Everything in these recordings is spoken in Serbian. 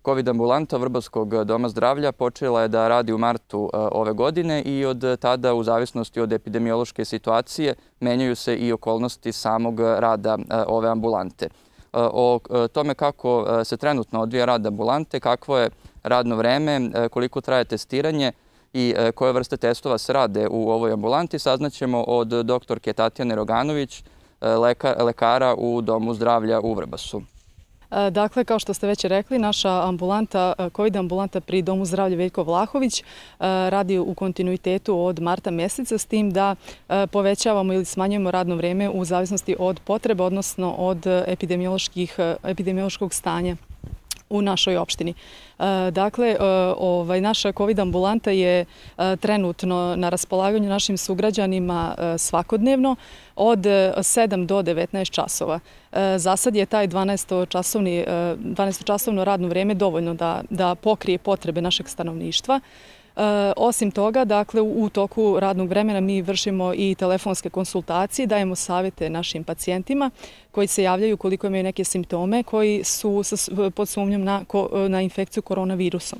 COVID ambulanta Vrbovskog doma zdravlja počela je da radi u martu ove godine i od tada, u zavisnosti od epidemiološke situacije, menjaju se i okolnosti samog rada ove ambulante. O tome kako se trenutno odvija rad ambulante, kakvo je radno vreme, koliko traje testiranje i koje vrste testova se rade u ovoj ambulanti, saznaćemo od doktorke Tatjane Roganović, lekara u Domu zdravlja u Vrbasu. Dakle, kao što ste već rekli, naša ambulanta, COVID ambulanta pri Domu zdravlja Veljko Vlahović radi u kontinuitetu od marta mjeseca, s tim da povećavamo ili smanjujemo radno vrijeme u zavisnosti od potreba, odnosno od epidemiološkog stanja u našoj opštini. Dakle, naša COVID ambulanta je trenutno na raspolaganju našim sugrađanima svakodnevno od 7 do 19 časova. Za sad je taj 12-časovno radno vrijeme dovoljno da pokrije potrebe našeg stanovništva. Osim toga, dakle, u toku radnog vremena mi vršimo i telefonske konsultacije, dajemo savjete našim pacijentima koji se javljaju koliko imaju neke simptome koji su pod sumnjom na infekciju koronavirusom.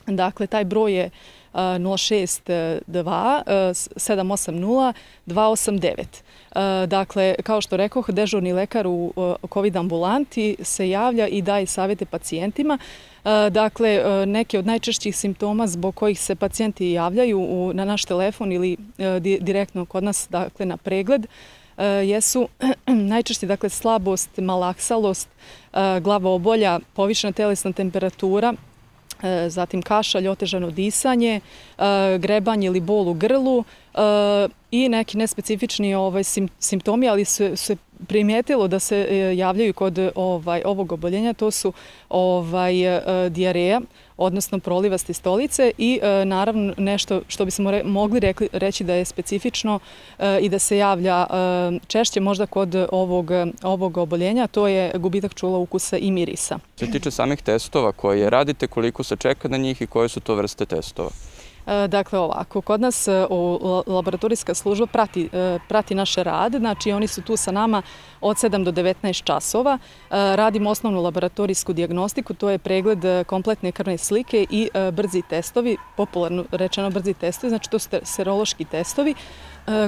Dakle, taj broj je 062 780 289. Dakle, kao što rekoh, dežurni lekar u COVID ambulanti se javlja i daje savjete pacijentima. Dakle, neke od najčešćih simptoma zbog kojih se pacijenti javljaju na naš telefon ili direktno kod nas, dakle, na pregled, jesu najčešće, dakle, slabost, malaksalost, glavobolja, povišena telesna temperatura, zatim kašalj, otežano disanje, grebanje ili bol u grlu i neki nespecifični simptomi, ali se primijetilo da se javljaju kod ovog oboljenja. To su dijareja, odnosno prolivaste stolice i naravno nešto što bismo mogli reći da je specifično i da se javlja češće možda kod ovog oboljenja, to je gubitak čula, ukusa i mirisa. Što se tiče samih testova koje radite, koliko se čeka na njih i koje su to vrste testova? Dakle, ovako, kod nas laboratorijska služba prati naš rad, znači oni su tu sa nama od 7 do 19 časova. Radimo osnovnu laboratorijsku dijagnostiku, to je pregled kompletne krvne slike i brzi testovi, popularno rečeno brzi testovi, znači to su serološki testovi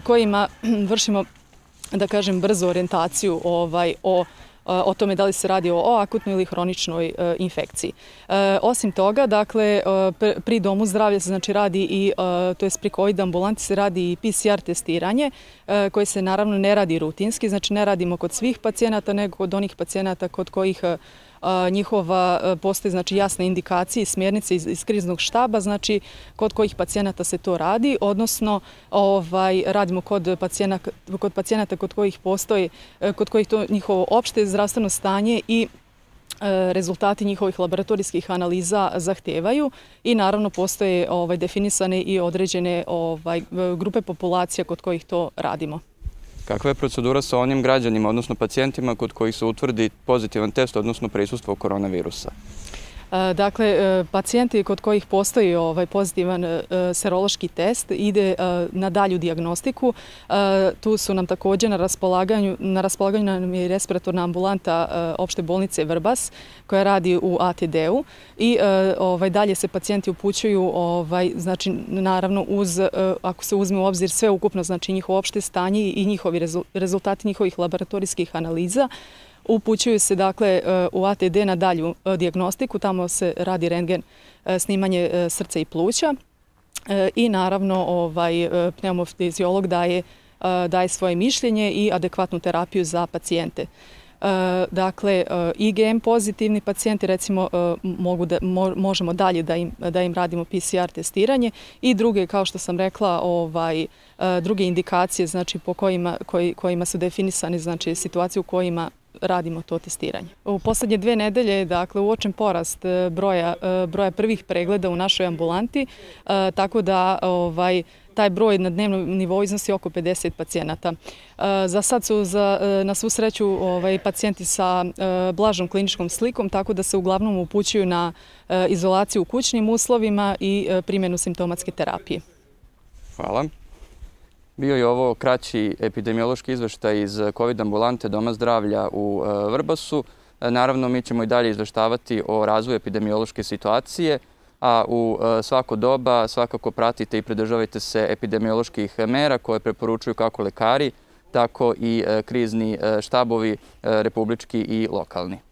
kojima vršimo, da kažem, brzu orijentaciju o tome da li se radi o akutnoj ili hroničnoj infekciji. Osim toga, dakle, pri Domu zdravlja se znači radi i, to jest pri COVID ambulanti se radi i PCR testiranje, koje se naravno ne radi rutinski, znači ne radimo kod svih pacijenata, nego kod onih pacijenata kod kojih njihova postoji, znači, jasne indikacije i smjernice iz kriznog štaba, znači kod kojih pacijenata se to radi, odnosno radimo kod pacijenata kod kojih postoji, kod kojih to njihovo opšte zdravstveno stanje i rezultati njihovih laboratorijskih analiza zahtevaju i naravno postoje definisane i određene grupe populacija kod kojih to radimo. Kakva je procedura sa onim građanima, odnosno pacijentima kod kojih se utvrdi pozitivan test, odnosno prisustvo koronavirusa? Dakle, pacijenti kod kojih postoji pozitivan serološki test ide na dalju dijagnostiku. Tu su nam također na raspolaganju nam je respiratorna ambulanta opšte bolnice Vrbas koja radi u ATD-u i dalje se pacijenti upućuju, znači naravno ako se uzme u obzir sve ukupno, znači njihovo opšte stanje i njihovi rezultati njihovih laboratorijskih analiza, upućuju se, dakle, u ATD na dalju dijagnostiku, tamo se radi rentgen, snimanje srca i pluća i naravno pneumofiziolog daje svoje mišljenje i adekvatnu terapiju za pacijente. Dakle, IgM pozitivni pacijenti, recimo, možemo dalje da im radimo PCR testiranje i druge, kao što sam rekla, druge indikacije, znači po kojima su definisane, znači situacije u kojima radimo to testiranje. U posljednje 2 nedelje, dakle, uočen porast broja prvih pregleda u našoj ambulanti, tako da taj broj na dnevnom nivou iznosi oko 50 pacijenata. Za sad su na svu sreću pacijenti sa blažom kliničkom slikom, tako da se uglavnom upućuju na izolaciju u kućnim uslovima i primjenu simptomatske terapije. Hvala. Bio je ovo kraći epidemiološki izveštaj iz COVID ambulante Doma zdravlja u Vrbasu. Naravno, mi ćemo i dalje izveštavati o razvoju epidemiološke situacije, a u svako doba svakako pratite i pridržavajte se epidemioloških mera koje preporučuju kako lekari, tako i krizni štabovi republički i lokalni.